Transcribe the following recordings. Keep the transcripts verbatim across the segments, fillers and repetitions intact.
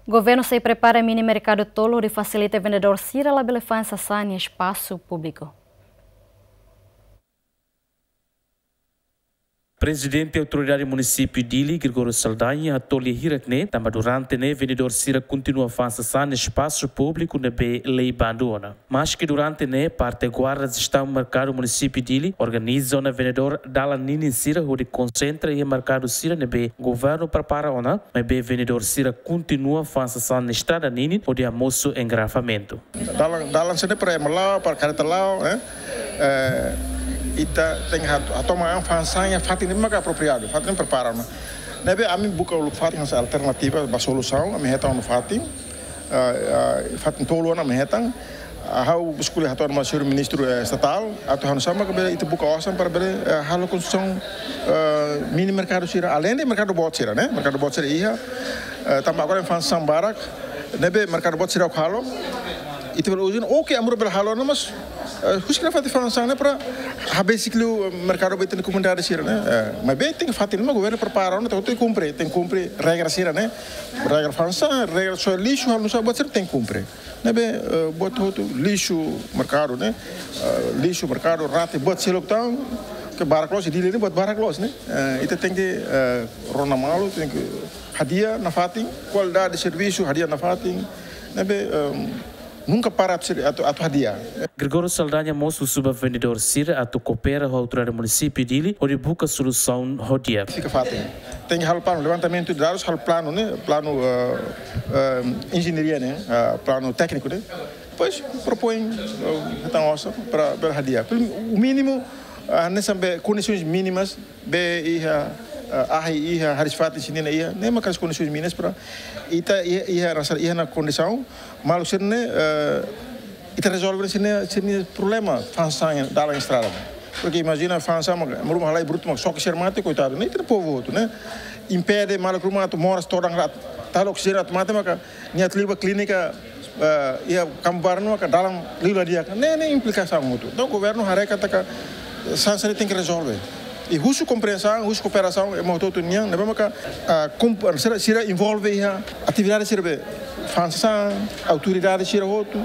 Governu sei prepara mini merkadu tolu hodi fasilita vendedór sira labele fa'an sasán iha espasu públiku. Prezidente Autoridade Munisípiu Dili, Gregório Saldanha, hato'o lia hirak ne'e, tanba durante ne'e vendedór sira kontinua fa'an sasán iha espasu públiku ne'ebé lei bandu ona. Maski durante ne'e, parte guarda jestaun merkadu Munisípiu Dili organiza ona vendedór dalan ninin sira hodi konsentra iha merkadu sira ne'ebé governu prepara ona, maibé vendedór sira kontinua fa'an sasán iha estrada ninin hodi hamosu engarrafamentu. Dalan, dalan sira-ne'e para ema la'o, para karreta la'o, eh? Eh, ita tenke hat-, hato'o an fa'an sasán iha fatin ne'ebé maka apropriadu, fatin ne'ebé prepara ona. Ne'ebé ami buka uluk fatin hanesan alternativa ba solusaun, ami hetan ona fatin, eh, eh, fatin tolu ona ami hetan. Ah, ha'u eskolhe hato'o ona ba señór ministru, eh, estatál, atu hanesan maka bele ita buka osan para bele, eh, halo konstrusaun, eh, mini merkadu sira, aleinde merkadu boot sira, ne'e? Merkadu boot sira iha, eh, tanba agora fa'an sasán barak, ne'ebé merkadu boot sira halo, ita bele uza ona, oke, ami rua bele halo ona, mas, eh, husik nafatin fa'an sasán ne'e para habesik liu merkadu ba ita-nia komunidade sira, ne'e? Eh, maibé tenke fatin, mas governu prepara ona, tenke kumpre, tenke kumpre regra sira, ne'e? Regra fa'an sasán, regra sosiál lixu, halo nusá, buat sira tenke kumpre. Ne'ebé, eh, buat hotu lixu merkadu, ne'e? Eh, lixu merkadu, rate, buat seluk tan, ke barak loos, Dili ne'e buat barak loos, ne'e? Eh, ita tenke, eh, rona malu, tenke hadi'a nafatin, kualidade servisu, hadi'a nafatin, ne'ebé, ehm, nunka para atu, atu, atu hadi'a. Gregório Saldanha mós husu ba vendedór sira atu koopera ho Autoridade Munisípiu Dili hodi buka solusaun ho di'ak. Fika fatin. Tenke halo planu, levantamentu de dadus, halo planu, ne'e? Planu, eh, eh, enjeñaria, ne'e? Eh, planu tékniku, ne'e? Depois propoin, eh, hetan osan para, para hadi'a. Pelo, o mínimo, ah, hanesan be kondisoens mínimas, be iha, eh, ahi iha, hariis-fatin sira-nia iha, ne'e maka kondisoens mínimas para ita iha, iha rasa, iha ona kondisaun, maluk sira-ne'e, eh, ita rezolve sira-nia, sira-nia problema, fa'an sasán dalan estrada. Porke imajina fa'an sasán, mak, ema ruma halai brutu, mak xoke sira mate, koitadu, ne'e? Ita-nia povu hotu, ne'e? Impede maluk ruma atu moras todan rat, tau oksijéniu atu mate, maka nia atu liu ba klínika, eh, iha Kambarnu, maka dalan liu la di'ak, ne'e, ne'e implikasaun hotu. Entaun governu haree katak sasán sira tenke rezolve. I husu komprensaun, husu kooperasaun ema hotu-hotu nian, ne'ebé maka, ah, komp-, sira, sira envolve iha atividade sira be fa'an sasán, autoridade sira hotu,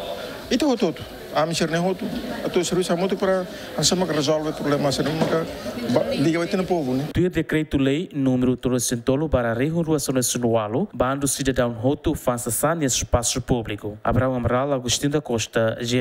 ita hotu-hotu, ami sira-ne'e hotu, atu servisu hamutuk para hanesan maka rezolve problema sira-ne'e maka ba, liga ba ita-nia povu, ne'e? Tuir dekretu-lei númeru tolu resin tolu barra rihun rua sanulu-resin-ualu, bandu sidadaun hotu fa'an sasán iha espasu públiku. Abrão Amaral, Agostinho da Costa, G M.